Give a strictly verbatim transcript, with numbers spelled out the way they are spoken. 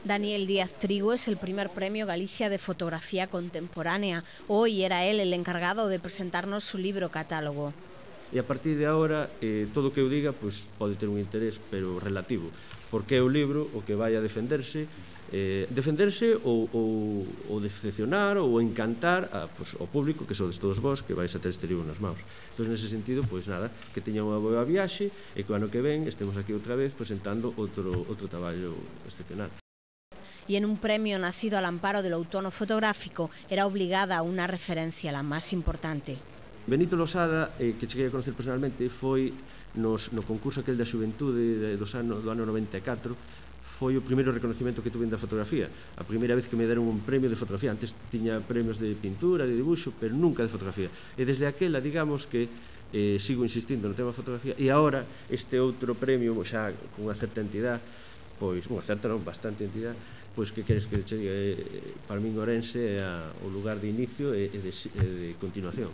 Daniel Díaz Trigo es el primer premio Galicia de fotografía contemporánea. Hoy era él el encargado de presentarnos su libro catálogo. E a partir de agora, eh, todo o que eu diga pois, pode ter un interés, pero relativo, porque é o libro o que vai a defenderse, eh, defenderse ou, ou, ou decepcionar ou encantar a, pois, ao público, que sodes todos vós, que vais a ter este libro nas mãos. Entón, nese sentido, pois nada, que teña unha boa viaxe e que o ano que ven estemos aquí outra vez presentando outro, outro traballo excepcional. Y en un premio nacido al amparo del outono fotográfico era obligada una referencia, la más importante. Benito Losada, eh, que cheguei a conocer personalmente, foi nos, no concurso aquel da xuventude de, dos ano, do ano noventa e catro, foi o primeiro reconocimento que tuve da fotografía. A primeira vez que me deron un premio de fotografía. Antes tiña premios de pintura, de dibuixo, pero nunca de fotografía. E desde aquela, digamos que eh, sigo insistindo no tema da fotografía, e agora este outro premio, xa con unha certa entidade, pois, unha certa non, bastante entidade, pois que queres que che diga, eh, para min Ourense é a, o lugar de inicio e, e, de, e de continuación.